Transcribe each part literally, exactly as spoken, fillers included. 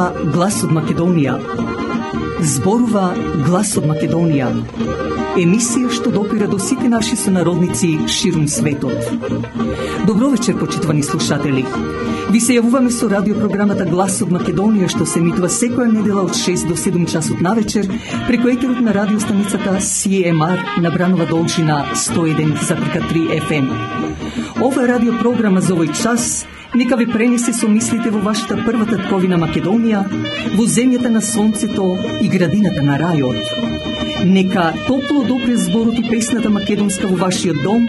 Зборува глас од Македонија. Зборува глас од Македонија. Емисија што допира до сите наши сонародници ширум светот. Добро вечер, почитувани слушатели. Ви се јавуваме со радиопрограмата Глас од Македонија, што се емитува секоја недела од шест до седум часот навечер преку етерот на радиостаницата Си Ем Ар на Бранова должина сто и еден запирка три Еф Ем. Ова радиопрограма за овој час нека ви пренесе со мислите во вашата прва татковина Македонија, во земјата на сонцето и градината на рајот. Нека топло допре зборот и песната македонска во вашиот дом,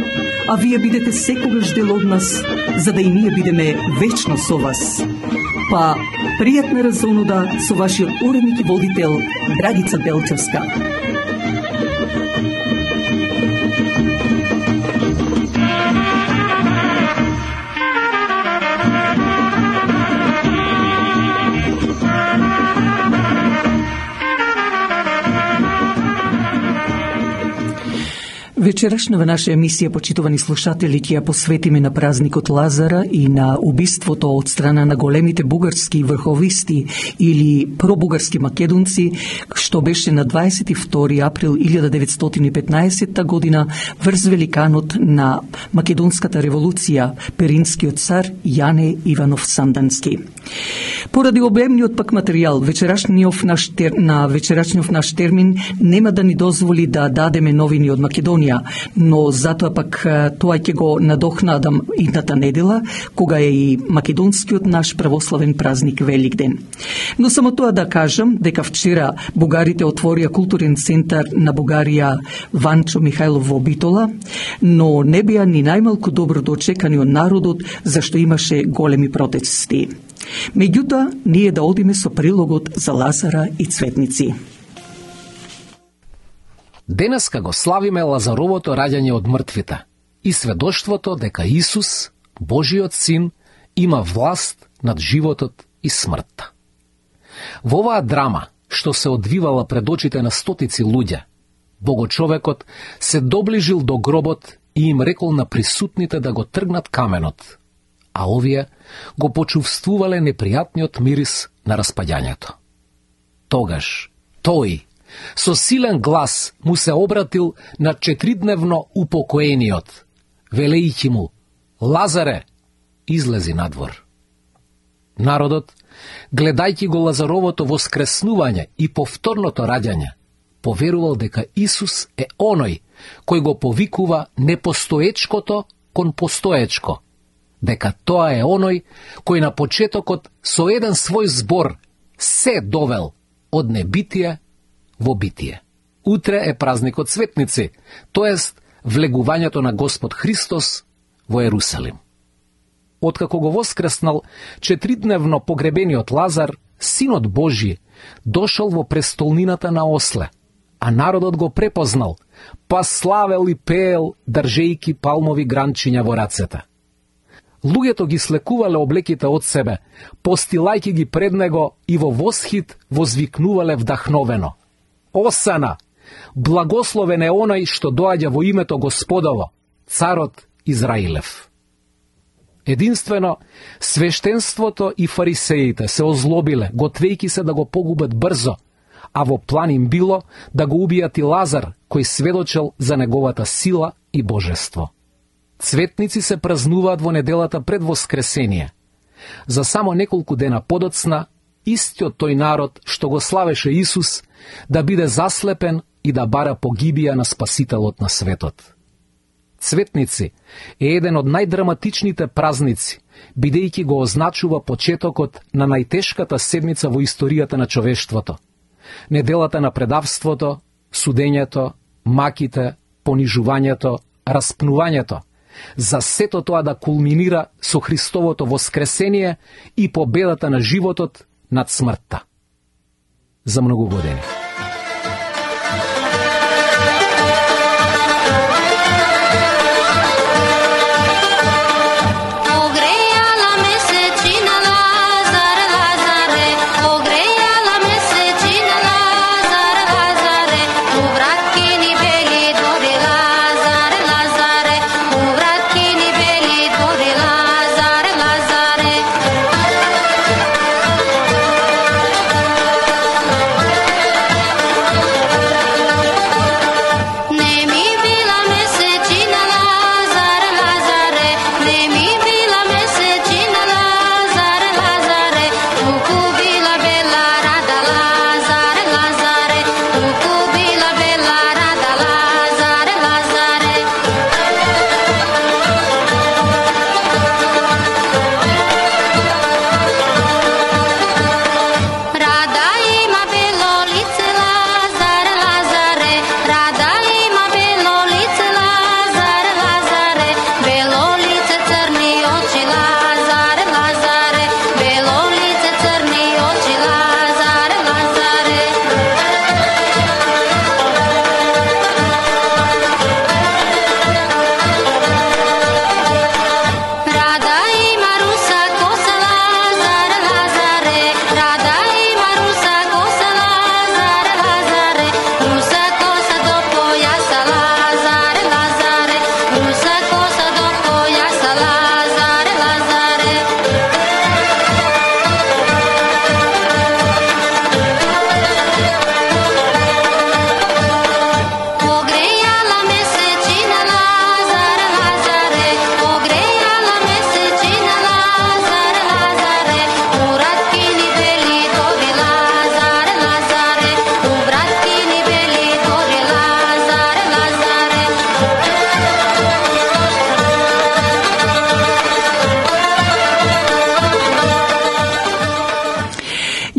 а вие бидете секогаш дел од нас, за да и ние бидеме вечно со вас. Па, пријатна разонуда со вашиот уредник и водител Драгица Белчевска. Вечерашнава наша емисија, почитувани слушатели, ќе ја посветиме на празникот Лазара и на убиството од страна на големите бугарски врховисти или пробугарски македонци, што беше на дваесет и втори април илјада деветстотини и петнаесетта година врз великанот на македонската револуција, перинскиот цар Јане Иванов Сандански. Поради обемниот пак материјал, вечерашниот наш тер... на вечерашниот наш термин нема да ни дозволи да дадеме новини од Македонија, но затоа пак тоа ќе го надохнадам идната недела, кога е и македонскиот наш православен празник Великден. Но само тоа да кажам дека вчера бугарите отворија културен центар на Бугарија Ванчо Михајлов во Битола, но не беа ни најмалку добро доочекани од народот, зашто имаше големи протести. Меѓутоа, ние да одиме со прилогот за Лазара и Цветници. Денеска го славиме Лазаровото раѓање од мртвите и сведоштвото дека Исус, Божиот Син, има власт над животот и смртта. Во оваа драма, што се одвивала пред очите на стотици луѓе, Богочовекот се доближил до гробот и им рекол на присутните да го тргнат каменот, а овие го почувствувале непријатниот мирис на распаѓањето. Тогаш, тој, со силен глас му се обратил на четиридневно упокоениот, велејќи му: Лазаре, излези надвор. Народот, гледајќи го Лазаровото воскреснување и повторното раѓање, поверувал дека Исус е оној кој го повикува непостоечкото кон постоечко, дека тоа е оној кој на почетокот со еден свој збор се довел од небитие во битие. Утре е празникот Цветници, тоест влегувањето на Господ Христос во Ерусалим. Откако го воскреснал четиридневно погребениот Лазар, Синот Божи дошол во престолнината на осле, а народот го препознал, па славел и пеел, држејки палмови гранчиња во рацете. Луѓето ги слекувале облеките од себе, постилајќи ги пред него и во восхит возвикнувале вдахновено: Осана, благословен е оној што доаѓа во името Господово, царот Израилев. Единствено, свештенството и фарисеите се озлобиле, готвејќи се да го погубат брзо, а во план им било да го убијат и Лазар, кој сведочел за неговата сила и божество. Цветници се празнуваат во неделата пред Воскресение. За само неколку дена подоцна, истиот тој народ што го славеше Исус, да биде заслепен и да бара погибија на Спасителот на светот. Цветници е еден од најдраматичните празници, бидејќи го означува почетокот на најтешката седмица во историјата на човештвото. Неделата на предавството, судењето, маките, понижувањето, распнувањето, за сето тоа да кулминира со Христовото воскресение и победата на животот над смртта. За многу години. Lazare,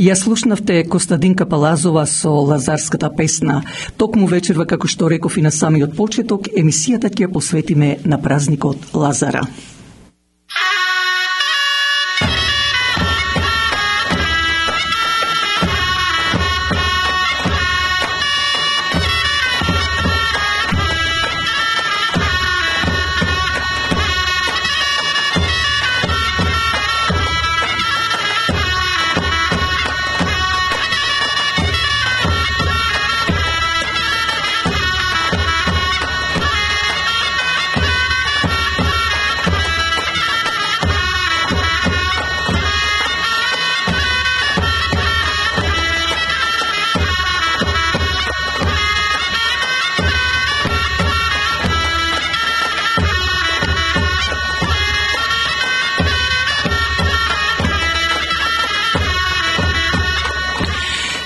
Ја слушнавте Костадинка Палазова со Лазарската песна. Токму вечерва, како што реков и на самиот почеток, емисијата ќе ја посветиме на празникот Лазара.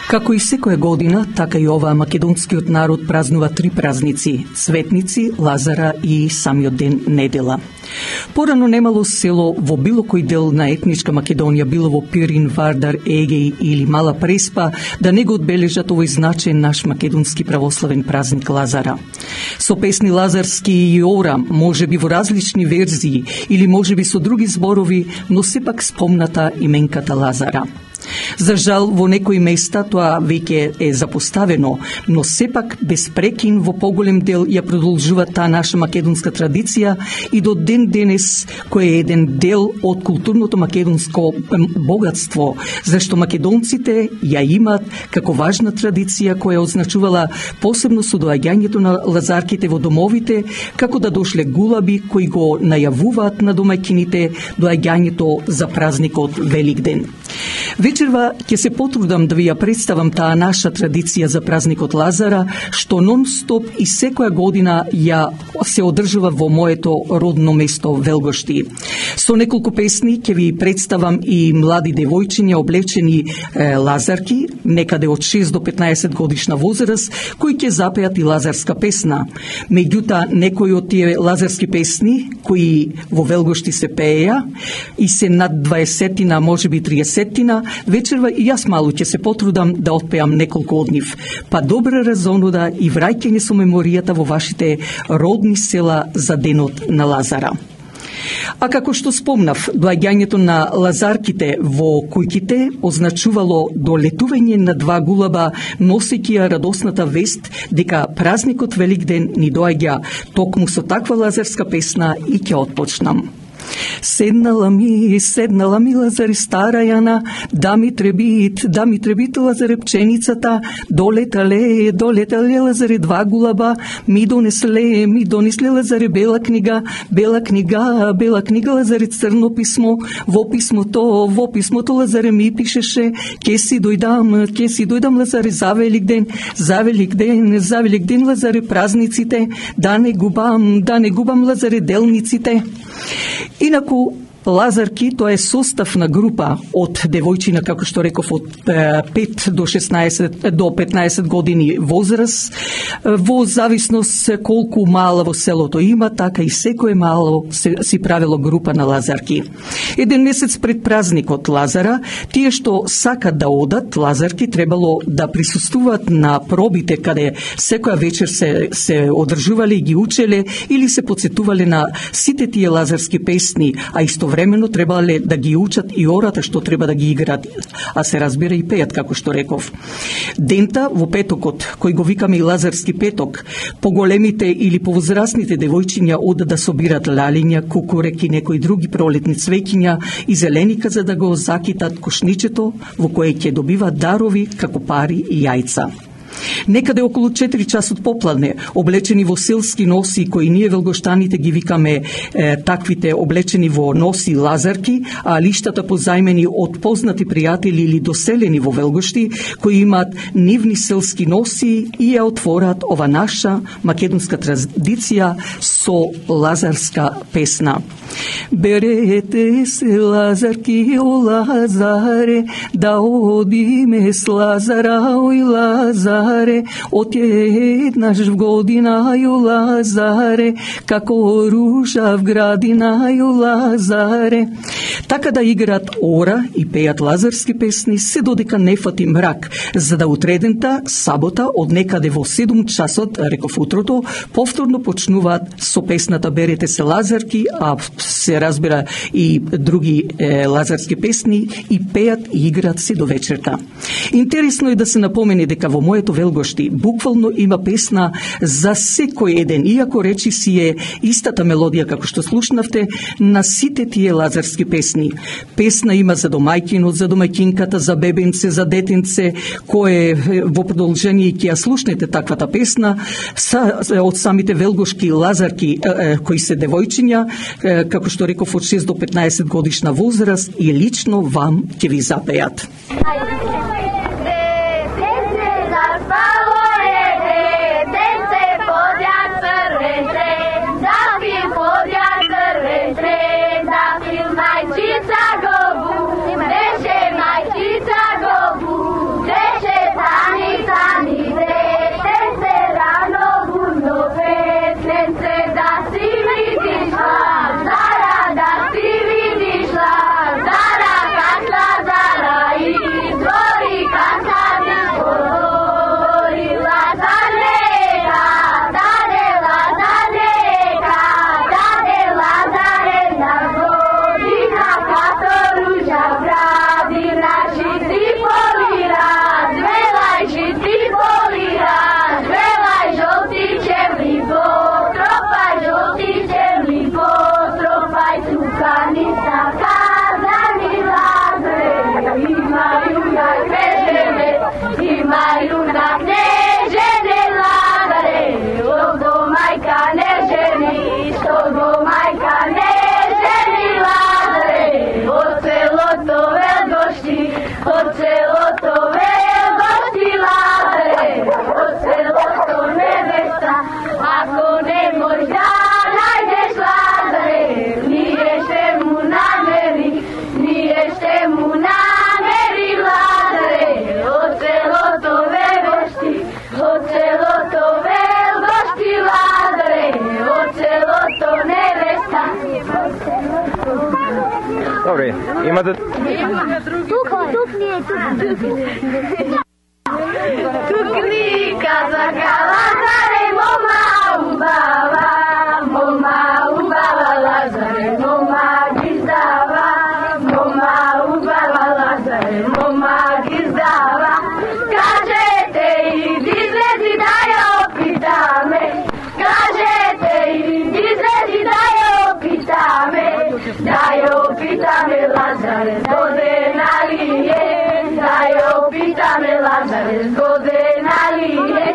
Како и секоја година, така и оваа македонскиот народ празнува три празници – Светници, Лазара и самиот ден недела. Порано немало село во било кој дел на етничка Македонија, било во Пирин, Вардар, Егеј или Мала Преспа, да не го одбележат овој значаен наш македонски православен празник Лазара. Со песни лазарски и ора, може би во различни верзии или може би со други зборови, но сепак спомната именката Лазара. За жал, во некои места тоа веќе е запоставено, но сепак без прекин во поголем дел ја продолжува таа наша македонска традиција и до ден денес, кој е еден дел од културното македонско богатство, зашто македонците ја имаат како важна традиција која означувала посебно со доаѓањето на лазарките во домовите, како да дошле гулаби кои го најавуваат на домаќините доаѓањето за празникот Великден. Вечерва ќе се потрудам да ви ја представам таа наша традиција за празникот Лазара, што нон-стоп и секоја година ја се одржува во моето родно место Велгошти. Со неколку песни ќе ви представам и млади девојчиња облечени е, лазарки, некаде од шест до петнаесет годишна возраст, кои ќе запеат и лазарска песна. Меѓутоа, некои од тие лазарски песни, кои во Велгошти се пееја и се над дваесетина, можеби триесетина, вечерва и јас малку ќе се потрудам да отпеам неколку од нив. Па добра разонуда и враќање со меморијата во вашите родни села за денот на Лазара. А како што спомнав, доаѓањето на лазарките во куќите означувало долетување на два гулаба, носејќи ја радосната вест дека празникот Великден ни доаѓа. Токму со таква лазарска песна и ќе отпочнам. Седнала ми, седнала ми Лазаре стара Јана, да ми требит, да ми требит Лазаре пченицата, долетале, долетале Лазаре два гулаба, ми донесле, ми донесле Лазаре бела книга, бела книга, бела книга Лазаре црно писмо, во писмото, во писмото Лазаре ми пишеше, ке си дојдам, ке си дојдам Лазаре за Великден, за Великден, за Великден Лазаре празниците, да не губам, да не губам Лазаре делниците. Инаку, лазарки, тоа е состав на група од девојчина, како што реков, од пет до шеснаесет до петнаесет години возраст, во зависност колку мала во селото има, така и секое мало се, си правило група на лазарки. Еден месец пред празникот Лазара, тие што сакат да одат, лазарки, требало да присуствуваат на пробите каде секоја вечер се, се одржувале и ги учеле или се подсетувале на сите тие лазарски песни, а исто времено требале да ги учат и ората што треба да ги играат, а се разбира и пеат, како што реков. Дента во петокот, кој го викаме и Лазарски петок, поголемите или повозрастните девојчиња одат да собират лалиња, кукуреки, некои други пролетни цвеќиња и зеленика за да го закитат кошничето во кое ќе добиваат дарови како пари и јајца. Некаде околу четири часот попладне, облечени во селски носи, кои ние велгоштаните ги викаме е, таквите облечени во носи лазарки, а лиштата позајмени од познати пријатели или доселени во Велгошти, кои имаат нивни селски носи и ја отвораат ова наша македонска традиција со лазарска песна. Берете се лазарки, о Лазаре, да одиме с Лазара, ој Лазаре, Лазаре, од еднаш в годинају Лазаре, како ружа в градинају Лазаре. Така да играат ора и пеат лазарски песни, се додека не фати мрак, за да утредента, сабота, од некаде во седум часот, реков утрото, повторно почнуваат со песната Берете се Лазарки, а се разбира и други е, лазарски песни, и пеат и играат се до вечерта. Интересно е да се напомени дека во моето Велгошти буквално има песна за секој еден, иако речи си е истата мелодија како што слушнавте на сите тие лазарски песни. Песна има за домајкинот, за домајкинката, за бебенце, за детенце, кое во продолжение ќе ја слушнете таквата песна са, од самите велгошки лазарки кои се девојчиња, како што реков од шест до петнаесет годишна возраст, и лично вам ќе ви запеат. Добре, имате... Тук, тук ни е, тук. Тук ни казаха Лазаре, мома убава, мома убава Лазаре, мома ги здава, мома убава Лазаре, мома ги здава. Кажете иди излези да ја опитаме, кажете иди излези да ја опитаме, да ја опитаме Лазаре, згодена ли е, да ја опитаме Лазаре, згодена ли е,